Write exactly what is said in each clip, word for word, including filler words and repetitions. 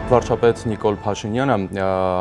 Վարչապետ Նիկոլ Փաշինյանը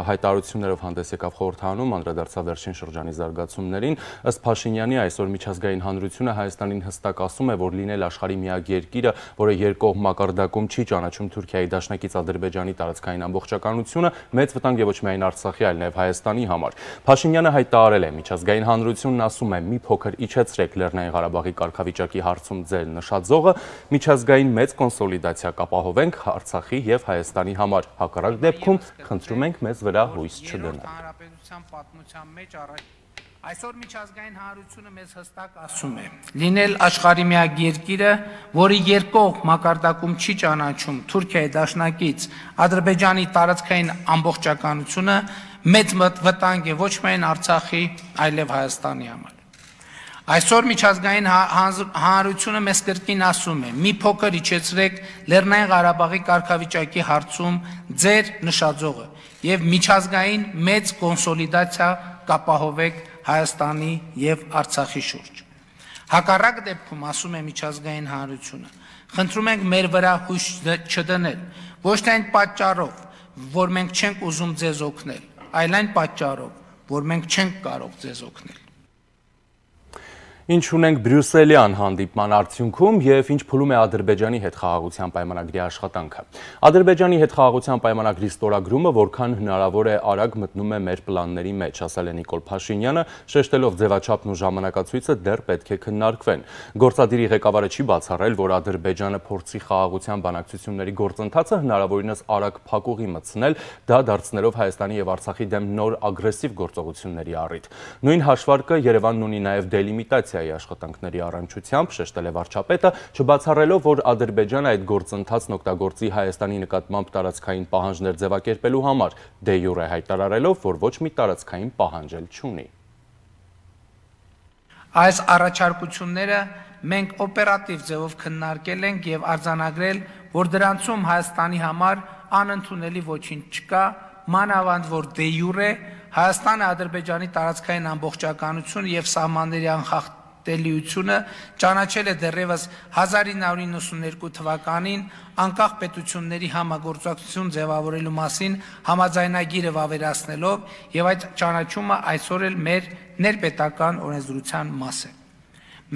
հայտարարություններով հանդես եկավ խորհրդարանում, անդրադարձավ վերջին շրջանի զարգացումներին։ Ըստ Փաշինյանի այսօր միջազգային հանրությունը Հայաստանին հստակ ասում է, որ լինել աշխարհի միակ երկիրը, որը երկկողմ մակարդակում չի ճանաչում Թուրքիայի դաշնակից Ադրբեջանի տարածքային ամբողջականությունը, մեծ վտանգ է ոչ միայն Արցախի, այլ նաև Հայաստանի համար։ Փաշինյանը հայտարարել է, միջազգային հանրությունն ասում է՝ մի փոքր իջեցրեք Լեռնային Ղարաբաղի կարգավիճակի հարցում ձեր նշաձողը, միջազգային մեծ կոնսոլիդացիա կապահովենք Արցախի և Հայաստանի համար։ Հակառակ դեպքում խնդրում ենք մեզ վրա հույս չդնել։ Այսօր միջազգային հանրությունը մեզ հստակ ասում է՝ լինել աշխարհի միակ երկիրը, որը երկկողմ մակարդակում չի ճանաչում Թուրքիայի դաշնակից Ադրբեջանի տարածքային ամբողջականությունը, մեծ վտանգ է ոչ միայն Արցախի, այլև Հայաստանի համար։ Այսօր միջազգային հանրությունը մեզ կրկին ասում է՝ մի փոքր իջեցրեք Լեռնային Ղարաբաղի կարգավիճակի հարցում ձեր նշաձողը և միջազգային մեծ կոնսոլիդացիա կապահովեք Հայաստանի և Արցախի շուրջ։ Հակառակ դեպքում, ասում է միջազգային հանրությունը, խնդրում ենք մեր վրա հույս չդնել, ոչ թե այն պատճառով, որ մենք չենք ուզում ձեզ օգնել, այլ այն պատճառով, որ մենք չենք կարող ձեզ օգնել։ Ինչ ունենք Բրյուսելյան հանդիպման արդյունքում և ինչ փուլում է Ադրբեջանի հետ խաղաղության պայմանագրի աշխատանքը։ Ադրբեջանի հետ խաղաղության պայմանագրի ստորագրումը որքան հնարավոր է արագ մտնում է մեր պլանների մեջ, ասել է Նիկոլ Փաշինյանը, շեշտելով ձևաչափն ու ժամանակացույցը դեռ պետք է քննարկվեն։ Գործադիրի ղեկավարը չի բացառել, որ Ադրբեջանը փորձի խաղաղության բանակցությունների գործընթացը հնարավորինս արագ փակուղի մտցնել, դա դարձնելով Հայաստանի և Արցախի դեմ նոր ագրեսիվ գործողությունների առիթ։ Նույն հաշվարկը Երևանն ունի նաև դելիմիտացիա աշխատանքների առնչությամբ, շեշտել է վարչապետը, չբացառելով, որ Ադրբեջանը այդ գործընթացն օգտագործի Հայաստանի նկատմամբ տարածքային պահանջներ ձևակերպելու համար, դե յուրե հայտարարելով, որ ոչ մի տարածքային պահանջ էլ չունի։ Այս առաջարկությունները մենք օպերատիվ ձևով քննարկել ենք և արձանագրել, որ դրանցում Հայաստանի համար անընդունելի ոչինչ չկա, մանավանդ որ դե յուրե Հայաստանը Ադրբեջանի տարածքային ամբողջականությունը և սահմանների անխախտելիությունը ճանաչել է դեռևս հազար ինը հարյուր իննսունութ թվականին անկախ պետությունների համագործակցություն ձևավորելու մասին համաձայնագիրը վավերացնելով և այդ ճանաչումը այսօր էլ մեր ներպետական օրենսդրության մաս է։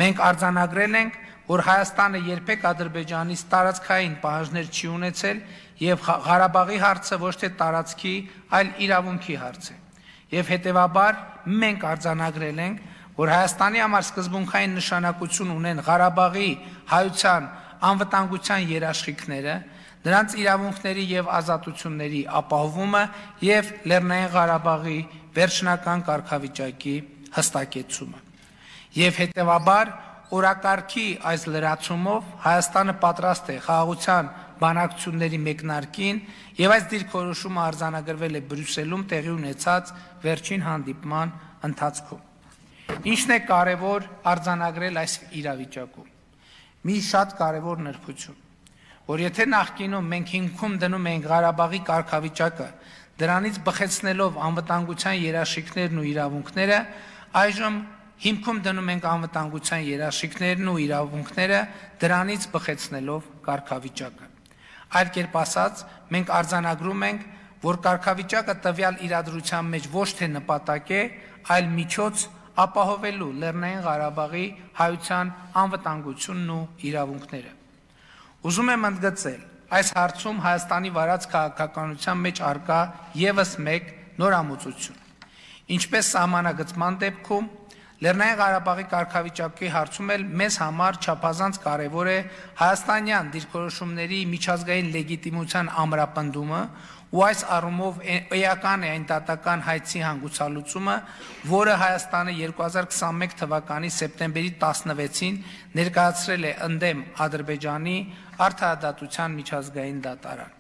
Մենք արձանագրել ենք, որ Հայաստանը երբեք Ադրբեջանից տարածքային պահանջներ չի ունեցել և Ղարաբաղի հարցը ոչ թե տարածքի, այլ իրավունքի հարց է։ Եվ հետևաբար մենք արձանագրել ենք, որ Հայաստանի համար սկզբունքային նշանակություն ունեն Ղարաբաղի հայության անվտանգության երաշխիքները, նրանց իրավունքների և ազատությունների ապահովումը և Լեռնային Ղարաբաղի վերջնական կարգավիճակի հստակեցումը։ Եվ հետևաբար օրակարգի այս լրացումով Հայաստանը պատրաստ է խաղաղության բանակցությունների մեկնարկին և այս դիրքորոշումը արձանագրվել է Բրյուսելում տեղի ունեցած վերջին հանդիպման ընթացքում։ Ինչն է կարևոր արձանագրել այս իրավիճակում։ Մի շատ կարևոր նրբություն, որ եթե նախկինում մենք հիմքում դնում ենք Ղարաբաղի կարգավիճակը, դրանից բխեցնելով անվտանգության երաշխիքներն ու իրավունքները, այժմ հիմքում դնում ենք անվտանգության երաշխիքներն ու իրավունքները, դրանից բխեցնելով կարգավիճակը։ Այլ կերպ ասած, մենք արձանագրում ենք, որ կարգավիճակը տվյալ իրադրության մեջ ոչ թե նպատակ է, այլ միջոց ապահովելու Լեռնային Ղարաբաղի հայության անվտանգությունն ու իրավունքները։ Ուզում եմ ընդգծել, այս հարցում Հայաստանի վարած քաղաքականության մեջ առկա ևս մեկ նորամուծություն։ Ինչպես սահմանագծման դեպքում, Լեռնային Ղարաբաղի կարգավիճակի հարցում էլ մեզ համար չափազանց կարևոր է հայաստանյան դիրքորոշումների միջազգային լեգիտիմության ամրապնդումը ու այս առումով էական է այն դատական հայցի հանգուցալուծումը, որը Հայաստանը երկու հազար քսանմեկ թվականի սեպտեմբերի տասնվեցին ներկայացրել է ընդդեմ Ադրբեջանի արդարադատության միջազգային դատարան։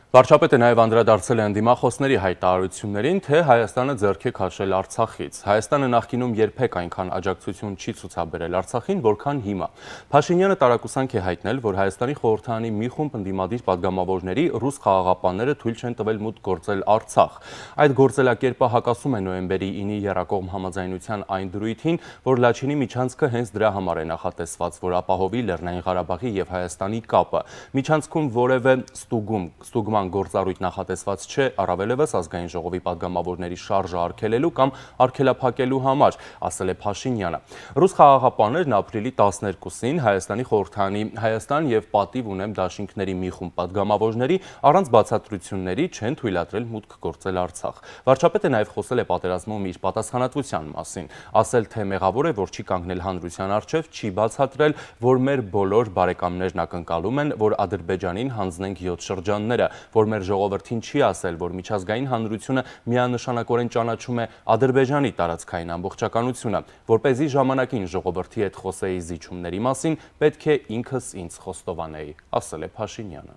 Վարչապետը նաև անդրադարձել է ընդդիմախոսների հայտարարություններին, թե Հայաստանը ձեռք է քաշել Արցախից։ Հայաստանը նախկինում երբեք այնքան աջակցություն չի ցուցաբերել Արցախին, որքան հիմա։ Փաշինյանը տարակուսանք է հայտնել, որ Հայաստանի խորհրդարանի մի խումբ ընդդիմադիր պատգամավորների ռուս խաղաղապահները թույլ չեն տվել մուտք գործել Արցախ։ Այդ գործելակերպը հակասում է նոյեմբերի ինի եռակողմ համաձայնության այն դրույթին, որ Լաչինի միջանցքը հենց դրա համար է նախատեսված, որ ապահովի Լեռնային Ղարաբաղի եւ Հայաստանի կապը։ Միջանցքում որևէ ստուգում, ստուգման գործառույթ նախատեսված չէ, առավելևս ազգային ժողովի պատգամավորների շարժը արգելելու կամ արգելափակելու համար, ասել է Փաշինյանը։ Ռուս խաղաղապահներն ապրիլի տասներկուսին Հայաստանի խորհրդարանի Հայաստան եւ պատիվ ունեմ դաշինքների մի խումբ պատգամավորների առանց բացատրությունների չեն թույլատրել մուտք գործել Արցախ։ Վարչապետը նաև խոսել է պատերազմում իր պատասխանատվության մասին, ասել թե մեղավոր է, որ չի կանգնել հանրության առջև, չի բացատրել, որ մեր բոլոր բարեկամներն ակնկալում են, որ Ադրբեջանին հանձնենք յոթ շրջանները, որ մեր ժողովրդին չի ասել, որ միջազգային հանրությունը միանշանակորեն ճանաչում է Ադրբեջանի տարածքային ամբողջականությունը, որպեսզի ժամանակին ժողովրդի հետ խոսեի զիջումների մասին, պետք է ինքս ինձ խոստովանեի, ասել է Փաշինյանը։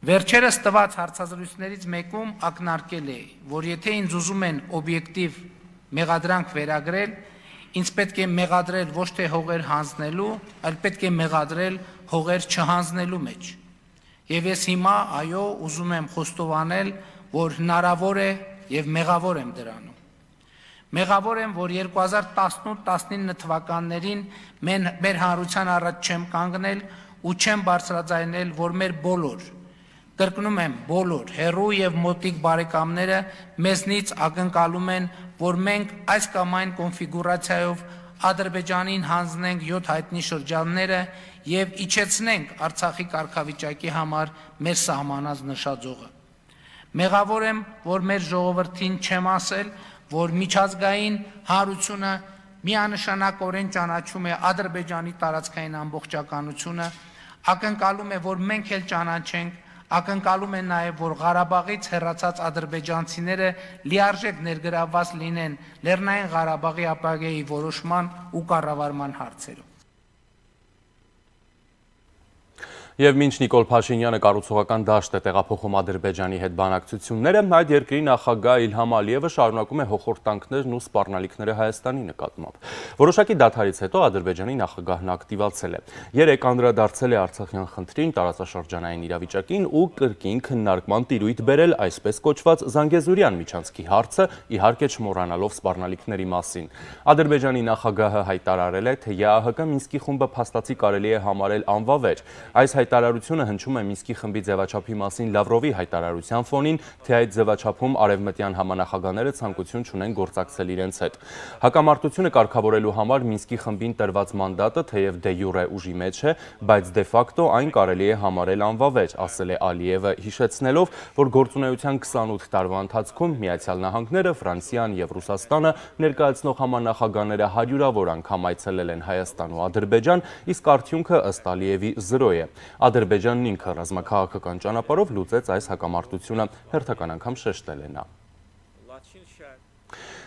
Վերջերս տված հարցազրույցներից մեկում ակնարկել է, որ եթե ինձ ուզում են օբյեկտիվ մեղադրանք վերագրել, ինձ պետք է մեղադրել ոչ թե հողեր հանձնելու, այլ պետք է մեղադրել հողեր չհանձնելու մեջ։ Եվ ես հիմա, այո, ուզում եմ խոստովանել, որ հնարավոր է եւ մեղավոր եմ դրանում։ Մեղավոր եմ, որ երկու հազար տասնութ տասնինը թվականներին մեր հանրության առաջ չեմ կանգնել ու չեմ բարձրաձայնել, որ մեր բոլոր, կրկնում եմ, բոլոր հեռու եւ մոտիկ բարեկամները մեզնից ակնկալում են, որ մենք այս կամ այն կոնֆիգուրացիայով Ադրբեջանին հանձնենք յոթ հայտնի շրջանները եւ իջեցնենք Արցախի կարգավիճակի համար մեր սահմանած նշաձողը։ Մեղավոր եմ, որ մեր ժողովրդին չեմ ասել, որ միջազգային հանրությունը միանշանակորեն ճանաչում է Ադրբեջանի տարածքային ամբողջականությունը, ակնկալում է, որ մենք էլ ճանաչենք, ակնկալում են նաև, որ Ղարաբաղից հեռացած ադրբեջանցիները լիարժեք ներգրավված լինեն Լեռնային Ղարաբաղի ապագայի որոշման ու կառավարման հարցերում։ Եվ մինչ Նիկոլ Փաշինյանը կառուցողական դաշտ է տեղափոխում Ադրբեջանի հետ բանակցությունները, այդ երկրի նախագահ Իլհամ Ալիևը շարունակում է հոխորտանքներն ու սպառնալիքները Հայաստանի նկատմամբ։ Որոշակի դադարից հետո Ադրբեջանի նախագահն ակտիվացել է։ Երեկ անդրադարձել է Արցախյան խնդրին, տարածաշրջանային իրավիճակին ու կրկին քննարկման տիրույթ բերել այսպես կոչված Զանգեզուրյան միջանցքի հարցը, իհարկե չմոռանալով սպառնալիքների մասին։ Ադրբեջանի նախագահը հայտարարել է, թե ԵԱՀԿ Մինսկի խումբը փաստացի կարելի է համարել անվավեր։ Այս հայտարարությունը հնչում է Մինսկի խմբի ձևաչափի մասին Լավրովի հայտարարության ֆոնին, թե այդ ձևաչափում արևմտյան համանախագահները ցանկություն չունեն գործակցել իրենց հետ։ Հակամարտությունը կարգավորելու համար Մինսկի խմբին տրված մանդատը թեև դե յուրե ուժի մեջ է, բայց դե ֆակտո այն կարելի է համարել անվավեր, ասել է Ալիևը, հիշեցնելով, որ գործունեության քսանութ տարվա ընթացքում Միացյալ Նահանգները, Ֆրանսիան եւ Ռուսաստանը ներկայացնող համանախագահները հարյուրավոր անգամ այցելել են Հայաստան ու Ադրբեջան, իսկ արդյունքը ըստ Ալիևի զրո է։ Ադրբեջանն ինքը ռազմաքաղաքական ճանապարհով լուծեց այս հակամարտությունը, հերթական անգամ շեշտել է նա։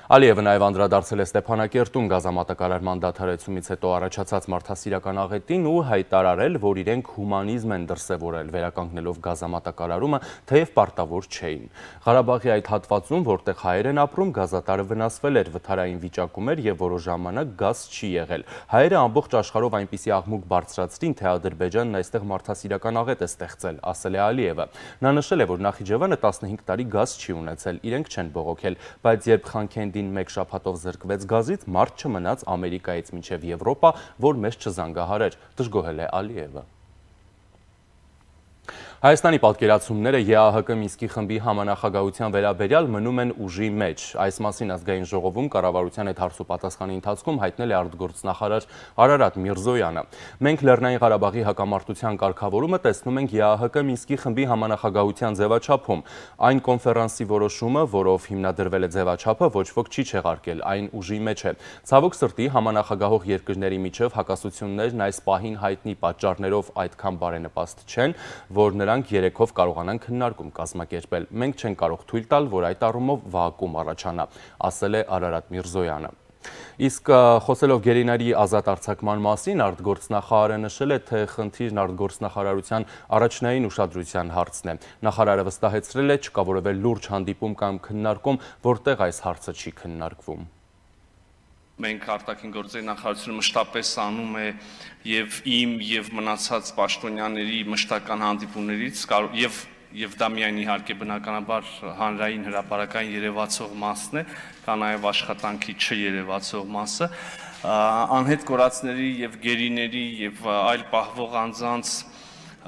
Ալիևը նաև անդրադարձել է Ստեփանակերտում գազամատակարարման դադարեցումից հետո առաջացած մարդասիրական աղետին ու հայտարարել, որ իրենք հումանիզմ են դրսևորել վերականգնելով գազամատակարարումը, թեև պարտավոր չէին։ Ղարաբաղի այդ հատվածում, որտեղ հայեր են ապրում, գազատարը վնասվել էր, վթարային վիճակում էր եւ որոշ ժամանակ գազ չի եղել։ Հայերը ամբողջ աշխարհով այնպիսի աղմուկ բարձրացրին, թե Ադրբեջանն այստեղ մարդասիրական աղետ է ստեղծել, ասել է Ալիևը։ Նա նշել է, որ Նախիջևանը տասնհինգ տարի գազ չի ունեցել, իրենք չեն բողոքել, բայց երբ Խանքենդին մեկ շաբաթով զրկվեց գազից, մարդ չմնաց Ամերիկայից մինչև Եվրոպա, որ մեզ չզանգահարեր, դժգոհել է Ալիևը։ Հայաստանի պատկերացումները ԵԱՀԿ Մինսկի խմբի համանախագահության վերաբերյալ մնում են ուժի մեջ։ Այս մասին ազգային ժողովում կառավարության հետ հարցուպատասխանի ընթացքում հայտնել է արտգործնախարար Արարատ Միրզոյանը։ Մենք Լեռնային Ղարաբաղի հակամարտության կարգավորումը տեսնում ենք ԵԱՀԿ Մինսկի խմբի համանախագահության ձևաչափում։ Այն կոնֆերանսի որոշումը, որով հիմնադրվել է ձևաչափը, ոչ ոք չի չեղարկել, այն ուժի մեջ է։ Ցավոք սրտի համանախագահող երկրների միջև հակասություններն այս պահին հայտնի պատճառներով այդքան բարենպաստ չեն, որ նրանք երեքով կարողանան քննարկում կազմակերպել։ Մենք չենք կարող թույլ տալ, որ այդ առումով վաակում առաջանա, ասել է Արարատ Միրզոյանը։ Իսկ խոսելով գերիների ազատ արձակման մասին, արտգործնախարարը նշել է, թե խնդիրն արտգործնախարարության առաջնային ուշադրության հարցն է։ Նախարարը վստահեցրել է, չկա որևէ լուրջ հանդիպում կամ քննարկում, որտեղ այս հարցը չի քննարկվում։ Մենք արտաքին գործերի նախարարությունը մշտապես անում է եւ իմ եւ մնացած պաշտոնյաների մշտական հանդիպումներից եւ եւ դա միայն իհարկե բնականաբար հանրային հրապարակային երևացող մասն է, կա նաեւ աշխատանքի չերևացող մասը, անհետ կորածների եւ գերիների եւ այլ պահվող անձանց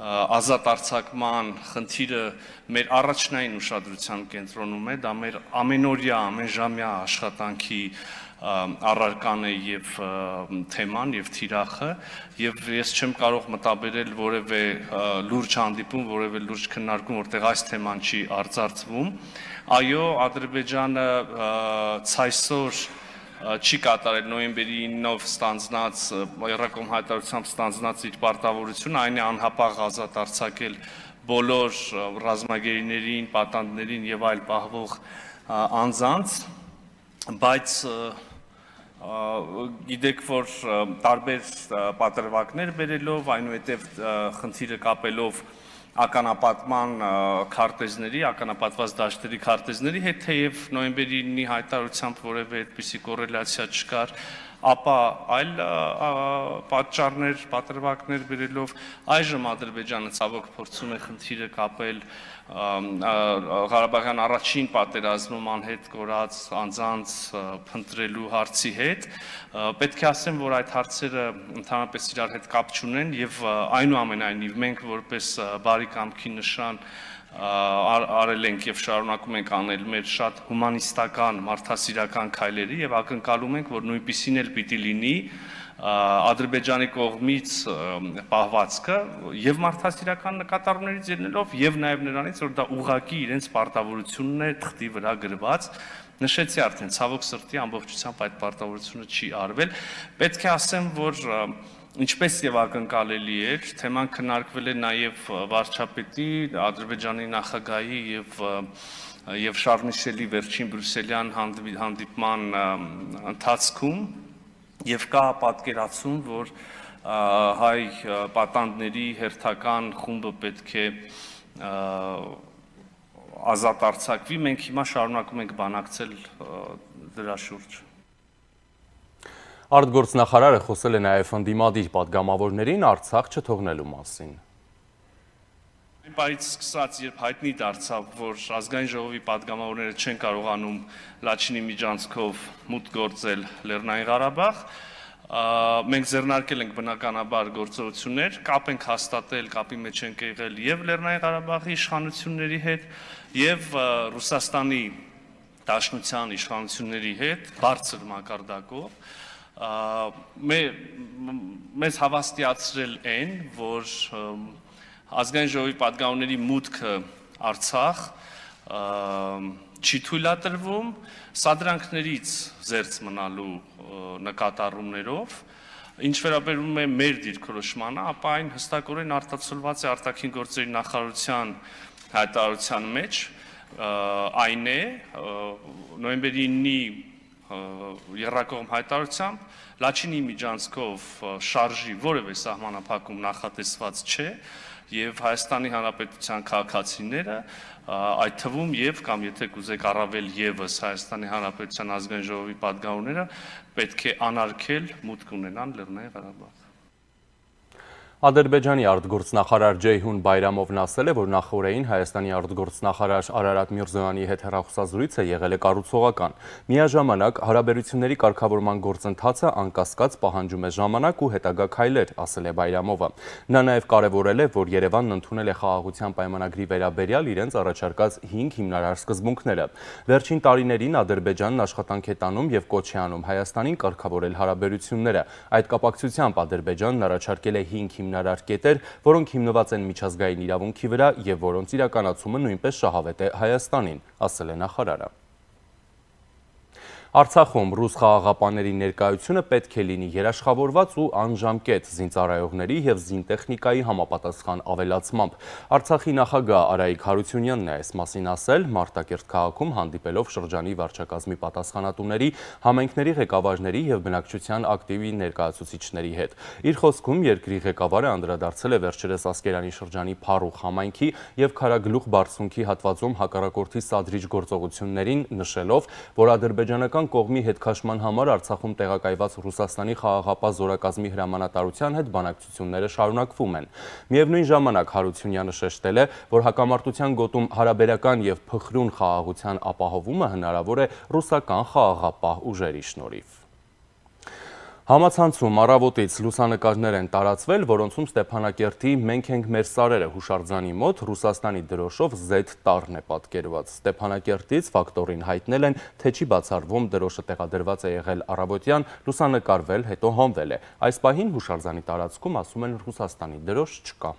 ազատ արձակման խնդիրը մեր առաջնային ուշադրության կենտրոնում է, դա մեր ամենօրյա, ամենժամյա աշխատանքի առարական է եւ թեման եւ թիրախը եւ ես չեմ կարող մտաբերել որևէ լուրջ հանդիպում, որևէ լուրջ քննարկում, որտեղ այս թեման չի արծարծվում։ Այո, Ադրբեջանը ցայսօր չի կատարել նոյեմբերի ինով ստանձնած Երրակոմ հայտարարությամբ ստանձնած իր պարտավորությունը, այն է անհապաղ ազատ արձակել բոլոր ռազմագերիներին, պատանդներին եւ այլ պահվող անձանց, բայց գիտեք, որ տարբեր պատրվակներ բերելով, այնուհետև խնդիրը կապելով ականապատման քարտեզների, ականապատված դաշտերի քարտեզների հետ, թեև նոյեմբերի ինի հայտարարությամբ որևէ այդպիսի կոռելացիա չկար, ապա այլ պատճառներ, պատրվակներ բերելով այժմ Ադրբեջանը ցավոք փորձում է խնդիրը կապել Ղարաբաղյան առաջին պատերազմում անհետ կորած անձանց փնտրելու հարցի հետ, պետք է ասեմ, որ այդ հարցերը ընդհանրապես իրար հետ կապ չունեն եւ այնուամենայնիվ մենք որպես բարի կամքի նշան արել ենք եւ շարունակում ենք անել մեր շատ հումանիստական, մարդասիրական քայլերի եւ ակնկալում ենք, որ նույնպիսին էլ պիտի լինի Ադրբեջանի կողմից պահվածքը եւ մարդասիրական նկատառումներից ելնելով եւ նաեւ նրանից, որ դա ուղղակի իրենց պարտավորությունն է թղթի վրա գրված, նշեցի արդեն, ցավոք սրտի ամբողջությամբ այդ պարտավորությունը չի արվել, պետք է ասեմ, որ ինչպես եւ ակնկալելի էր, թեման քննարկվել է նաեւ վարչապետի, Ադրբեջանի նախագահի եւ եւ Շարլ Միշելի վերջին բրյուսելյան հանդիպման ընթացքում եւ կա պատկերացում, որ հայ պատանդների հերթական խումբը պետք է ազատ արձակվի, մենք հիմա շարունակում ենք բանակցել դրա շուրջ։ Արտգործնախարարը խոսել է նաև ընդդիմադիր պատգամավորներին Արցախ չթողնելու մասին։ Այն պարից սկսած, երբ հայտնի դարձավ, որ ազգային ժողովի պատգամավորները չեն կարողանում Լաչինի միջանցքով մուտք գործել Լեռնային Ղարաբաղ, մենք ձեռնարկել ենք բնականաբար գործողություններ, կապ ենք հաստատել, կապի մեջ ենք եղել եւ Լեռնային Ղարաբաղի իշխանությունների հետ եւ Ռուսաստանի Դաշնության իշխանությունների հետ բարձր մակարդակով, մեզ հավաստիացրել են, որ ազգային ժողովի պատգամավորների մուտքը Արցախ չի թույլատրվում սադրանքներից զերծ մնալու նկատառումներով, ինչ վերաբերում է մեր դիրքորոշմանը, ապա այն հստակորեն արտացոլված է արտաքին գործերի նախարարության հայտարարության մեջ, այն է նոյեմբերի ինի Երրակողմ հայտարարությամբ Լաչինի միջանցքով շարժի որևէ սահմանափակում նախատեսված չէ եւ Հայաստանի Հանրապետության քաղաքացիները այդ թվում եւ կամ եթե կուզեք առավել եւս Հայաստանի Հանրապետության ազգային ժողովի պատգամավորները պետք է անարգել մուտք ունենան Լեռնային Ղարաբաղ։ Ադրբեջանի արտգործնախարար Ջեյհուն Բայրամովն ասել է, որ նախորդին Հայաստանի արտգործնախարար Արարատ Միրզոյանի հետ հեռախոսազրույցը եղել է կառուցողական։ Միաժամանակ հարաբերությունների կարգավորման գործընթացը անկասկած պահանջում է ժամանակ ու հետագա քայլեր, ասել է Բայրամովը։ Նա նաև կարևորել է, որ Երևանն ընդունել է խաղաղության պայմանագրի վերաբերյալ իրենց առաջարկած հինգ հիմնարար սկզբունքները։ Վերջին տարիներին Ադրբեջանն աշխատանք է տանում եւ կոչ է անում Հայաստանին կարգավորել հարաբերությունները։ Այդ կապակցությամբ Ադրբեջանն առաջարկել է հինգ հիմնարար կետեր, որոնք հիմնված են միջազգային իրավունքի վրա եւ որոնց իրականացումը նույնպես շահավետ է Հայաստանին, ասել է նախարարը։ Արցախում ռուս խաղաղապահների ներկայությունը պետք է լինի երաշխավորված ու անժամկետ զինծառայողների և զինտեխնիկայի համապատասխան ավելացմամբ։ Արցախի նախագահ Արայիկ Հարությունյանն է այս մասին ասել Մարտակերտ քաղաքում հանդիպելով շրջանի վարչակազմի պատասխանատուների, համայնքների ղեկավարների և բնակչության ակտիվ ներկայացուցիչների հետ։ Իր խոսքում երկրի ղեկավարը անդրադարձել է վերջերս Ասկերանի շրջանի Փարուխ համայնքի և Քարագլուխ բարձունքի հատվածում հակառակորդի սադրիչ գործողություններին, նշելով, որ ադրբեջանական կողմի հետքաշման համար Արցախում տեղակայված Ռուսաստանի խաղաղապահ զորակազմի հրամանատարության հետ բանակցությունները շարունակվում են։ Միևնույն ժամանակ Հարությունյանը շեշտել է, որ հակամարտության գոտում հարաբերական և փխրուն խաղաղության ապահովումը հնարավոր է ռուսական խաղաղապահ ուժերի շնորհիվ։ Համացանցում առավոտից լուսանկարներ են տարածվել, որոնցում Ստեփանակերտի «Մենք ենք մեր սարերը» հուշարձանի մոտ Ռուսաստանի դրոշով զեդ տառն է պատկերված։ Ստեփանակերտից ֆակտորին հայտնել են, թե չի բացառվում դրոշը տեղադրված է եղել առավոտյան, լուսանկարվել, հետո հանվել է։ Այս պահին հուշարձանի տարածքում, ասում են, Ռուսաստանի դրոշ չկա։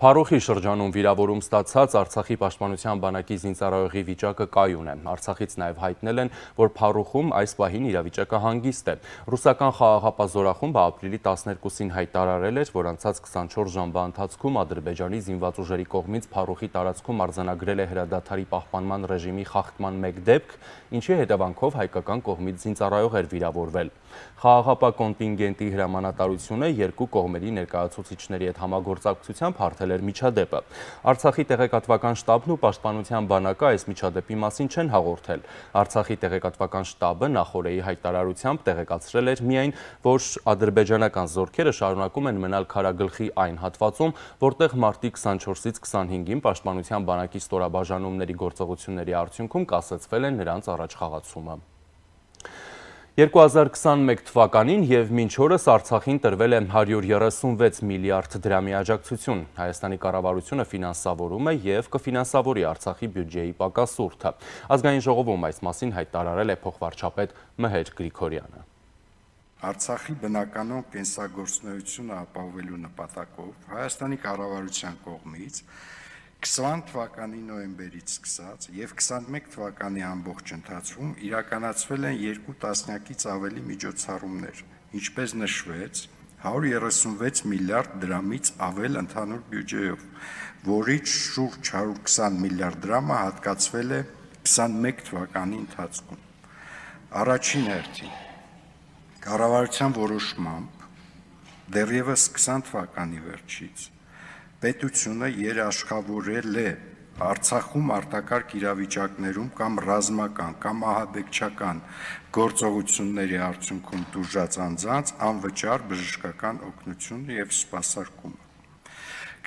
Փարուխի շրջանում վիրավորում ստացած Արցախի պաշտպանության բանակի զինծառայողի վիճակը կայուն է։ Արցախից նաև հայտնել են, որ Փարուխում այս պահին իրավիճակը հանգիստ է։ Ռուսական խաղաղապահ զորախումբը ապրիլի տասներկուսին հայտարարել էր, որ անցած քսանչորս ժամվա ընթացքում Ադրբեջանի զինված ուժերի կողմից Փարուխի տարածքում արձանագրել է հրադադարի պահպանման ռեժիմի խախտման մեկ դեպք, ինչի հետևանքով հայկական կողմից զինծառայող էր վիրավորվել։ Խաղաղապահ կոնտինգենտի հրամանատարությունը երկու կողմերի ներկայացուցիչների հետ համագործակցությամբ հարթել էր միջադեպը։ Արցախի տեղեկատվական շտաբն ու պաշտպանության բանակը այս միջադեպի մասին չեն հաղորդել։ Արցախի տեղեկատվական շտաբը նախօրեի հայտարարությամբ տեղեկացրել էր միայն, որ ադրբեջանական զորքերը շարունակում են մնալ Քարագլխի այն հատվածում, որտեղ մարտի քսանչորսից քսանհինգին պաշտպանության բանակի ստորաբաժանումների գործողությունների արդյունքում կասեցվել է նրանց առաջխաղացումը։ երկու հազար քսանմեկ թվականին և մինչ օրս Արցախին տրվել է հարյուր երեսունվեց միլիարդ դրամի աջակցություն։ Հայաստանի կառավարությունը ֆինանսավորում է և կֆինանսավորի Արցախի բյուջեի պակասուրդը։ Ազգային ժողովում այս մասին հայտարարել է փոխվարչապետ Մհեր Գրիգորյանը։ Արցախի բնականոն կենսագործունեությունը ապահովելու նպատակով Հայաստանի կառավարության կողմից քսան թվականի նոյեմբերից սկսած և քսանմեկ թվականի ամբողջ ընթացքում իրականացվել են երկու տասնյակից ավելի միջոցառումներ, ինչպես նշվեց, հարյուր երեսունվեց միլիարդ դրամից ավել ընդհանուր բյուջեով, որից շուրջ հարյուր քսան միլիարդ դրամը հատկացվել է քսանմեկ թվականի ընթացքում։ Առաջին հերթին կառավարության որոշմամբ դեռևս քսան թվականի վերջից պետությունը երաշխավորել է Արցախում արտակարգ իրավիճակներում կամ ռազմական կամ ահաբեկչական գործողությունների արդյունքում տուժած անձանց անվճար բժշկական օգնությունը եւ սպասարկումը։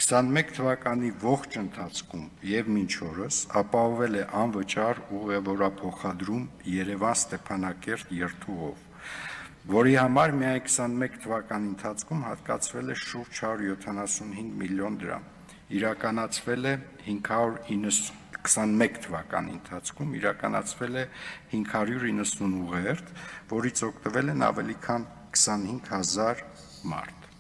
քսանմեկ թվականի ողջ ընթացքում եւ մինչ օրս ապահովել է անվճար ուղևորափոխադրում Երևան-Ստեփանակերտ երթուղով, որի համար միայն քսանմեկ թվականի ընթացքում հատկացվել է շուրջ հարյուր յոթանասունհինգ միլիոն դրամ, իրականացվել է հինգ հարյուր քսանմեկ թվականի ընթացքում իրականացվել է հինգ հարյուր իննսուն ուղերձ, որից օգտվել են ավելի քան քսանհինգ հազար մարդ։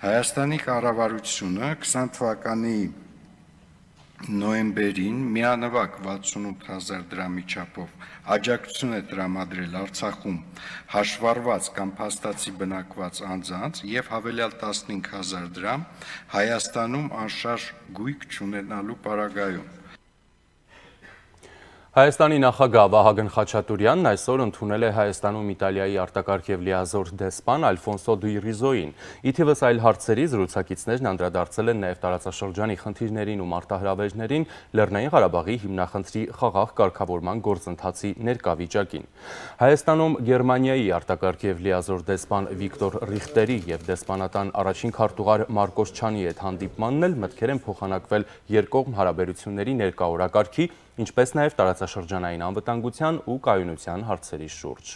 Հայաստանի կառավարությունը քսան թվականի նոյեմբերին միանվագ վաթսունութ հազար դրամի չափով աջակցություն է տրամադրել Արցախում հաշվառված կամ փաստացի բնակված անձանց և հավելյալ տասնհինգ հազար դրամ Հայաստանում անշարժ գույք չունենալու պարագայում։ Հայաստանի նախագահ Վահագն Խաչատուրյանն այսօր ընդունել է Հայաստանում Իտալիայի արտակարգ և լիազոր դեսպան Ալֆոնսո Դի Ռիզոյին։ Ի թիվս այլ հարցերի զրուցակիցներն անդրադարձել են նաև տարածաշրջանի խնդիրներին ու մարտահրավերներին, Լեռնային Ղարաբաղի հիմնախնդրի խաղաղ կարգավորման գործընթացի ներկա վիճակին։ Հայաստանում Գերմանիայի արտակարգ և լիազոր դեսպան Վիկտոր Ռիխտերի և դեսպանատան առաջին քարտուղար Մարկոս Չանի հետ հանդիպմանն էլ մտքեր են փոխանակվել երկկողմ հարաբերությունների ներկա օրակարգի, ինչպես նաև տարածաշրջանային անվտանգության ու կայունության հարցերի շուրջ։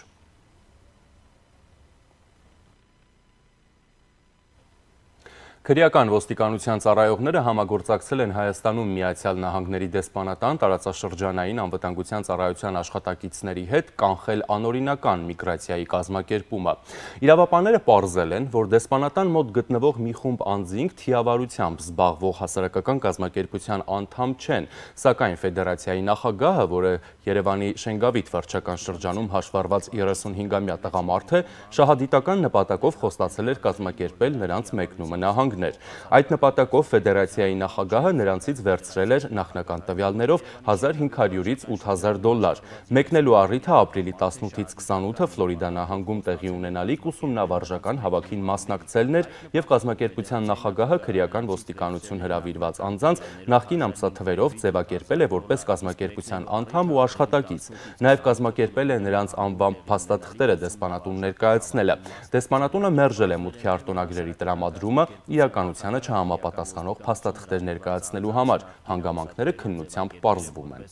Քրեական ոստիկանության ծառայողները համագործակցել են Հայաստանում Միացյալ Նահանգների դեսպանատան տարածաշրջանային անվտանգության ծառայության աշխատակիցների հետ կանխել անօրինական միգրացիայի կազմակերպումը։ Իրավապանները պարզել են, որ դեսպանատան մոտ գտնվող մի խումբ անձինք թիավարությամբ զբաղվող հասարակական կազմակերպության անդամ չեն, սակայն ֆեդերացիայի նախագահը, որը Երևանի Շենգավիթ վարչական շրջանում հաշվառված երեսունհինգամյա տղամարդ է, շահադիտական նպատակով խոստացել էր կազմակերպել նրանց մեկնումը նահանգներ։ Այդ նպատակով ֆեդերացիայի նախագահը նրանցից վերցրել էր նախնական տվյալներով հազար հինգ հարյուրից ութ հազար դոլար։ Մեկնելու առիթը ապրիլի տասնութից քսանութը Ֆլորիդա նահանգում տեղի ունենալիք ուսումնավարժական հավաքին մասնակցելն էր և կազմակերպության նախագահը քրեական ոստիկանություն հրավիրված անձանց նախկին ամսաթվերով ձևակերպել է որպես կազմակերպության անդամ ու աշխատակից։ Նաև կազմակերպել է նրանց անվան փաստաթղթերը դեսպանատուն ներկայացնելը։ Դեսպանատունը մերժել է մուտքի արտոնագրերի տրամադրումը իրականությանը չհամապատասխանող փաստաթղթեր ներկայացնելու համար։ Հանգամանքները քննությամբ պարզվում են։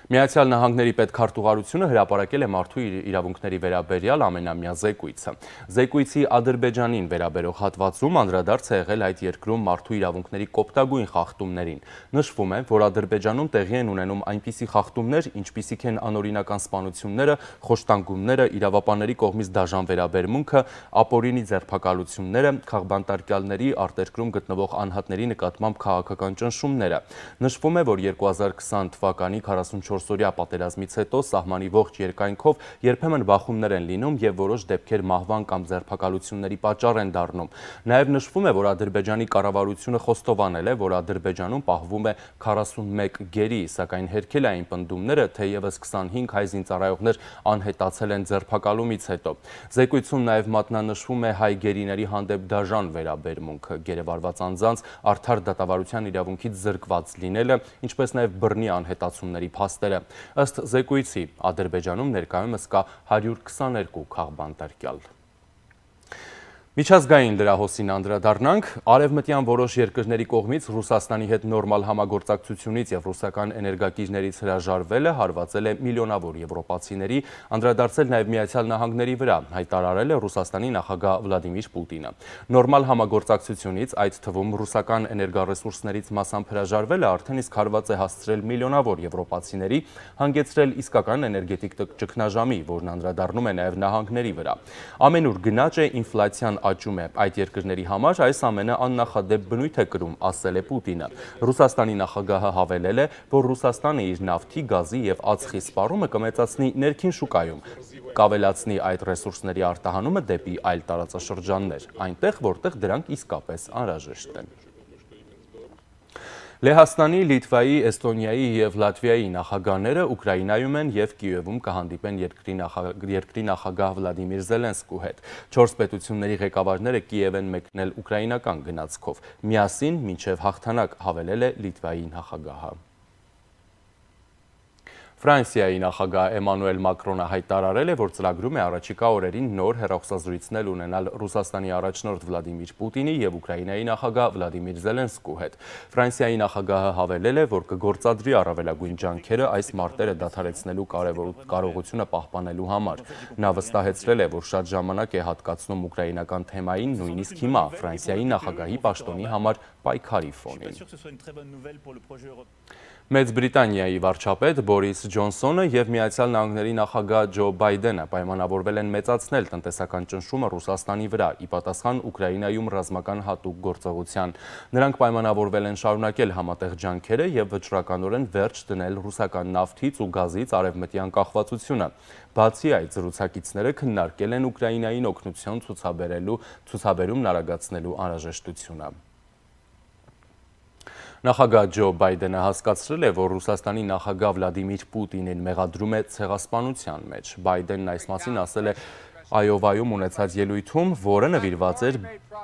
Միացյալ Նահանգների պետքարտուղարությունը հրապարակել է մարդու իրավունքների վերաբերյալ ամենամյա զեկույցը։ Զեկույցի Ադրբեջանին վերաբերող հատվածում անդրադարձ է եղել այդ երկրում մարդու իրավունքների կոպտագույն խախտումներին։ Նշվում է, որ Ադրբեջանում տեղի են ունենում այնպիսի խախտումներ, ինչպիսիք են անօրինական սպանությունները, խոշտանգումները, իրավապանների կողմից դաժան վերաբերմունքը, ապօրինի ձերբակալությունները, քաղբանտարկյալների, արտերկրում գտնվող անհատների նկատմամբ քաղաքական ճնշումները։ Նշվում է, որ երկու հազար քսան թվականի քառասունչորսօրյա պատերազմից հետո սահմանի ողջ երկայնքով երբեմն բախումներ են լինում և որոշ դեպքեր մահվան կամ ձերբակալությունների պատճառ են դառնում։ Նաև նշվում է, որ Ադրբեջանի կառավարությունը խոստովանել է, որ Ադրբեջանում պահվում է քառասունմեկ գերի, սակայն հերքել այն պնդումները, թեևս քսանհինգ հայ զինծառայողներ անհետացել են ձերբակալումից հետո։ Զեկույցում նաև մատնանշվում է հայ գերիների հանդեպ դաժան վերաբերմունքը, գերեվարված անձանց արդար դատավարության իրավունքից զրկված լինելը, ինչպես նաև բռնի անհետացումների փաստերը։ Ըստ զեկույցի, Ադրբեջանում ներկայումս կա հարյուր քսաներկու քաղբանտարկյալ։ Միջազգային լրահոսին անդրադառնանք, արևմտյան որոշ երկրների կողմից Ռուսաստանի հետ նորմալ համագործակցությունից և ռուսական էներգակիրներից հրաժարվելը հարվածել է միլիոնավոր եվրոպացիների, անդրադարձել նաև Միացյալ Նահանգների վրա, հայտարարել է Ռուսաստանի նախագահ Վլադիմիր Պուտինը։ Նորմալ համագործակցությունից, այդ թվում ռուսական էներգառեսուրսներից մասամբ հրաժարվելը արդեն իսկ հարված է հասցրել միլիոնավոր եվրոպացիների, հանգեցրել իսկական էներգետիկ ճգնաժամի, որն անդրադառնում է նաև նահանգների վրա։ Ամենուր գնաճ է, ինֆլյացիան աճում է, այդ երկրների համար այս ամենը աննախադեպ բնույթ է կրում, ասել է Պուտինը։ Ռուսաստանի նախագահը հավելել է, որ Ռուսաստանը իր նավթի, գազի և ածխի սպառումը կմեծացնի ներքին շուկայում, կավելացնի այդ ռեսուրսների արտահանումը դեպի այլ տարածաշրջաններ, այնտեղ, որտեղ դրանք իսկապես անհրաժեշտ են։ Լեհաստանի, Լիտվայի, Էստոնիայի և Լատվիայի նախագահները Ուկրաինայում են և Կիևում կհանդիպեն երկրի նախագահ Վլադիմիր Զելենսկու հետ։ Չորս պետությունների ղեկավարները Կիև են մեկնել ուկրաինական գնացքով։ Միասին մինչև հաղթանակ, հավելել է Լիտվայի նախագահը։ Ֆրանսիայի նախագահ Էմանուել Մակրոնը հայտարարել է, որ ծրագրում է առաջիկա օրերին նոր հեռախոսազրույցներ ունենալ Ռուսաստանի առաջնորդ Վլադիմիր Պուտինի և Ուկրաինայի նախագահ Վլադիմիր Զելենսկու հետ։ Ֆրանսիայի նախագահը հավելել է, որ կգործադրի առավելագույն ջանքերը այս մարտերը դադարեցնելու կարողությունը պահպանելու համար։ Նա վստահեցրել է, որ շատ ժամանակ է հատկացնում ուկրաինական թեմային, նույնիսկ հիմա Ֆրանսիայի նախագահի պաշտոնի համար պայքարի ֆոնին։ Մեծ Բրիտանիայի վարչապետ Բորիս Ջոնսոնը և Միացյալ Նահանգների նախագահ Ջո Բայդենը պայմանավորվել են մեծացնել տնտեսական ճնշումը Ռուսաստանի վրա, ի պատասխան Ուկրաինայում ռազմական հատուկ գործողության։ Նրանք պայմանավորվել են շարունակել համատեղ ջանքերը և վճռականորեն վերջ դնել ռուսական նավթից ու գազից արևմտյան կախվածությունը։ Բացի այդ, զրուցակիցները քննարկել են Ուկրաինային օգնություն ցուցաբերումն արագացնելու անհրաժեշտությունը։ Նախագահ Ջո Բայդենը հասկացրել է, որ Ռուսաստանի նախագահ Վլադիմիր Պուտինին մեղադրում է ցեղասպանության մեջ։ Բայդենն այս մասին ասել է Այովայում ունեցած ելույթում, որը նվիրված էր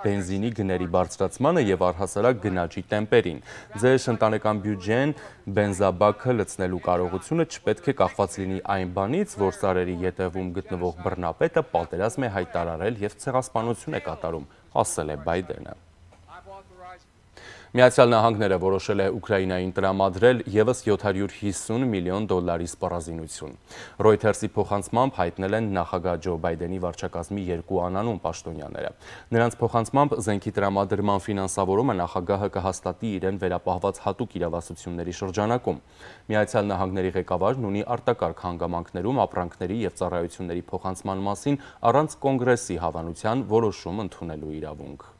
բենզինի գների բարձրացմանը և առհասարակ գնաճի տեմպերին։ Ձեր ընտանեկան բյուջեն, բենզաբաքը լցնելու կարողությունը չպետք է կախված լինի այն բանից, որ սարերի ետևում գտնվող բռնապետը պատերազմ է հայտարարել և ցեղասպանություն է կատարում, ասել է Բայդենը։ Միացյալ Նահանգները որոշել է Ուկրաինային տրամադրել ևս յոթ հարյուր հիսուն միլիոն դոլարի սպառազինություն։ Reuters-ի փոխանցմամբ հայտնել են նախագահ Ջո Բայդենի վարչակազմի երկու անանուն պաշտոնյաները։ Նրանց փոխանցմամբ զենքի տրամադրման ֆինանսավորումը նախագահը կհաստատի իրեն վերապահված հատուկ իրավասությունների շրջանակում։ Միացյալ Նահանգների ղեկավարն ունի արտակարգ հանգամանքներում ապրանքների և ծառայությունների փոխանցման մասին առանց կոնգրեսի հավանության որոշում ընդունելու իրավունք։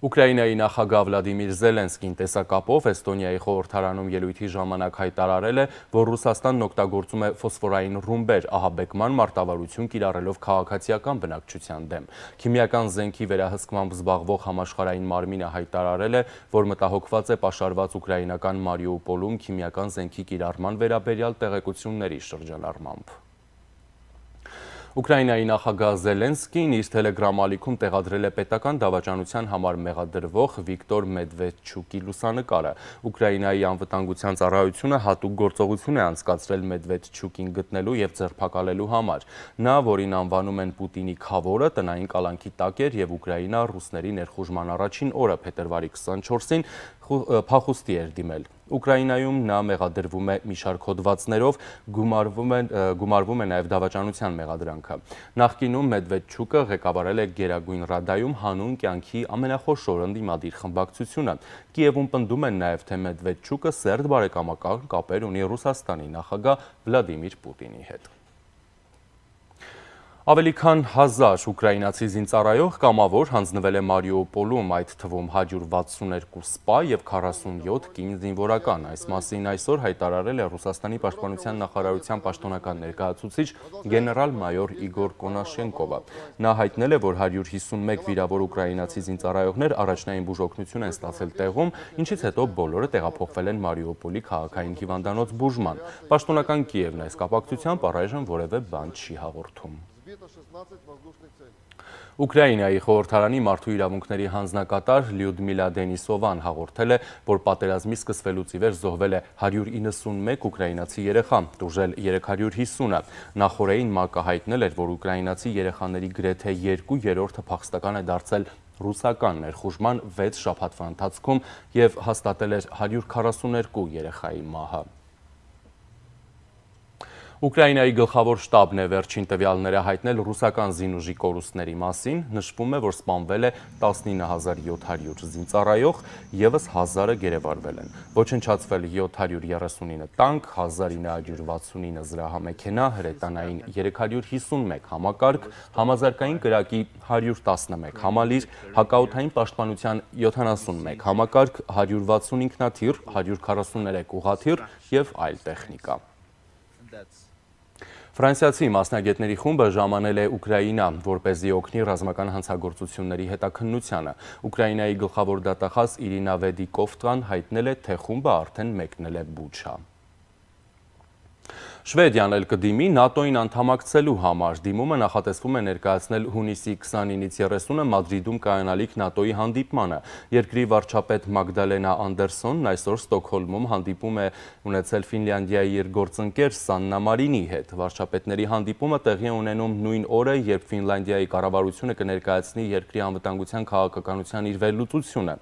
Ուկրաինայի նախագահ Վլադիմիր Զելենսկին տեսակապով Էստոնիայի խորհրդարանում ելույթի ժամանակ հայտարարել է, որ Ռուսաստանն օգտագործում է ֆոսֆորային ռումբեր ահաբեկման մարտավարություն կիրառելով քաղաքացիական բնակչության դեմ։ Քիմիական զենքի վերահսկմամբ զբաղվող համաշխարհային մարմինը հայտարարել է, որ մտահոգված է պաշարված ուկրաինական Մարիուպոլում քիմիական զենքի կիրառման վերաբերյալ տեղեկությունների շրջանառմամբ։ Ուկրաինայի նախագահ Զելենսկին իր թելեգրամ ալիքում տեղադրել է պետական դավաճանության համար մեղադրվող Վիկտոր Մեդվեդչուկի լուսանկարը։ Ուկրաինայի անվտանգության ծառայությունը հատուկ գործողություն է անցկացրել Մեդվեդչուկին գտնելու և ձերբակալելու համար։ Նա, որին անվանում են Պուտինի քավորը, տնային կալանքի տակ էր և Ուկրաինա ռուսների ներխուժման առաջին օրը փետրվարի քսանչորսին փախուստի էր դիմել։ Ուկրաինայում նա մեղադրվում է մի շարք հոդվածներով, գումարվում է, գումարվում է նաև դավաճանության մեղադրանքը։ Նախկինում Մեդվեդչուկը ղեկավարել է Գերագույն Ռադայում հանուն կյանքի ամենախոշոր ընդդիմադիր խմբակցությունը։ Կիևում պնդում են նաև, թե Մեդվեդչուկը սերտ բարեկամական կապեր ունի Ռուսաստանի նախագահ Վլադիմիր Պուտինի հետ։ Ավելի քան հազար ուկրաինացի զինծառայող կամավոր հանձնվել է Մարիուպոլում, այդ թվում հարյուր վաթսունութ սպա և քառասունյոթ կին զինվորական։ Այս մասին այսօր հայտարարել է Ռուսաստանի պաշտպանության նախարարության պաշտոնական ներկայացուցիչ գեներալ-մայոր Իգոր Կոնաշենկովը։ Նա հայտնել է, որ հարյուր հիսունմեկ վիրավոր ուկրաինացի զինծառայողներ առաջնային բուժօգնություն են ստացել տեղում, ինչից հետո բոլորը տեղափոխվել են Մարիուպոլի քաղաքային հիվանդանոց բուժման։ Պաշտոնական Կիևն այս կապակցությամբ առայժմ որևէ բան չի հաղորդում։ Ուկրաինայի խորհրդարանի մարդու իրավունքների հանձնակատար Լյուդմիլա Դենիսովան հաղորդել է, որ պատերազմի սկսվելուց ի վեր զոհվել է հարյուր իննսունմեկ ուկրաինացի երեխա, տուժել երեք հարյուր հիսունը։ Նախորդին ՄԱԿ-ը հայտնել էր, որ ուկրաինացի երեխաների գրեթե երկու երրորդը փախստական է դարձել ռուսական ներխուժման վեց շաբաթվա ընթացքում և հաստատել էր հարյուր քառասուներկու երեխայի մահը։ Ուկրաինայի գլխավոր շտաբն է վերջին տվյալները հայտնել ռուսական զինուժի կորուստների մասին, նշվում է, որ սպանվել է տասնինը հազար յոթ հարյուր զինծառայող, ևս հազարը գերեվարվել են։ Ոչնչացվել յոթ հարյուր երեսունինը տանկ, հազար ինը հարյուր վաթսունինը զրահամեքենա, հրետանային երեք հարյուր հիսունմեկ համակարգ, համազարգային կրակի հարյուր տասնմեկ համալիր, հակաօդային պաշտպանության յոթանասունմեկ համակարգ, հարյուր վաթսուն ինքնաթիռ, հարյուր քառասուներեք ուղղաթիռ և այլ տեխնիկա։ Ֆրանսիացի մասնագետների խումբը ժամանել է Ուկրաինա, որպեսզի օգնի ռազմական հանցագործությունների հետաքննությանը։ Ուկրաինայի գլխավոր դատախազ Իրինա Վեդիկովտան հայտնել է, թե խումբը արդեն մեկնել է Բուչա։ Շվեդիան էլ կդիմի ՆԱՏՕ-ին անդամակցելու համար։ Դիմումը նախատեսվում է ներկայացնել հունիսի քսանինից երեսունը Մադրիդում կայանալիք ՆԱՏՕ-ի հանդիպմանը։ Երկրի վարչապետ Մագդալենա Անդերսոնն այսօր Ստոկհոլմում հանդիպում է ունեցել Ֆինլանդիայի իր գործընկեր Սաննա Մարինի հետ։ Վարչապետների հանդիպումը տեղի է ունենում նույն օրը, երբ Ֆինլանդիայի կառավարությունը կներկայացնի երկրի անվտանգության քաղաքականության իր վերլուծությունը։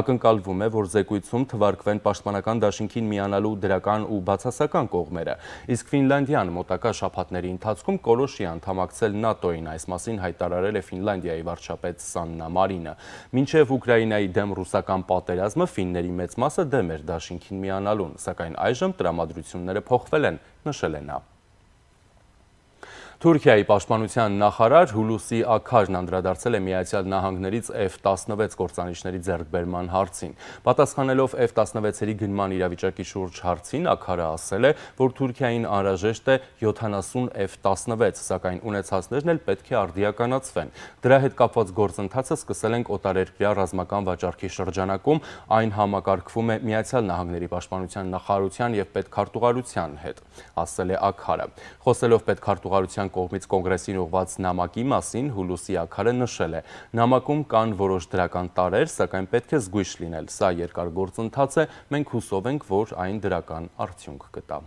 Ակնկալվում է, որ զեկույցում թվարկվեն պաշտպանական դաշինքին միանալու դրական ու բացասական կողմերը։ Իսկ Ֆինլանդիան մոտակա շաբաթների ընթացքում կորոշի անդամակցել ՆԱՏՕ-ին, այս մասին հայտարարել է Ֆինլանդիայի վարչապետ Սաննա Մարինը։ Մինչև Ուկրաինայի դեմ ռուսական պատերազմը ֆինների մեծ մասը դեմ էր դաշինքին միանալուն, սակայն այժմ տրամադրությունները փոխվել են, նշել է նա։ Թուրքիայի պաշտպանության նախարար Հուլուսի Աքարն անդրադարձել է Միացյալ Նահանգներից F տասնվեց կործանիչների ձեռքբերման հարցին։ Պատասխանելով F տասնվեցերի գնման իրավիճակի շուրջ հարցին, Աքարը ասել է, որ Թուրքիային անհրաժեշտ է յոթանասուն F տասնվեց, սակայն ունեցածներն էլ պետք է արդիականացվեն։ Դրա հետ կապված գործընթացը սկսել ենք օտարերկրյա ռազմական վաճառքի շրջանակում, այն համակարգվում է Միացյալ Նահանգների պաշտպանության նախարարության և պետքարտուղարության հետ, ասել է Աքարը։ Խոսելով պետքարտուղարության կողմից կոնգրեսին ուղղված նամակի մասին Հուլուսի Աքարը նշել է. նամակում կան որոշ դրական տարրեր, սակայն պետք է զգույշ լինել, սա երկար գործընթաց է, մենք հուսով ենք, որ այն դրական արդյունք կտա։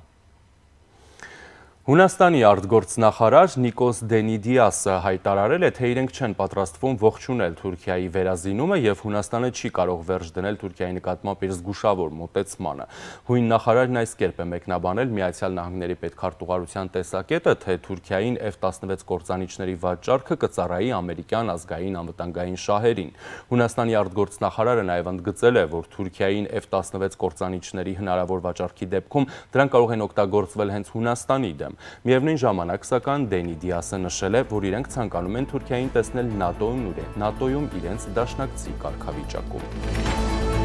Հունաստանի արտգործնախարար Նիկոս Դենիդիասը հայտարարել է, թե իրենք չեն պատրաստվում ողջունել Թուրքիայի վերազինումը և Հունաստանը չի կարող վերջ դնել Թուրքիայի նկատմամբ իր զգուշավոր մոտեցմանը։ Հույն նախարարն այս կերպ է մեկնաբանել Միացյալ Նահանգների պետքարտուղարության տեսակետը, թե Թուրքիային F տասնվեց կործանիչների վաճառքը կծառայի ամերիկյան ազգային անվտանգային շահերին։ Հունաստանի արտգործնախարարը նաև ընդգծել է, որ Թուրքիային F տասնվեց կործանիչների հնարավոր վաճառքի դեպքում դրանք կարող են օգտագործվել հենց Հունաստանի դեմ։ Միևնույն ժամանակ, սակայն Դենիդիասը նշել է, որ իրենք ցանկանում են Թուրքիային տեսնել ՆԱՏՕ-ում ՆԱՏՕ-ում իրենց դաշնակցի կարգավիճակում։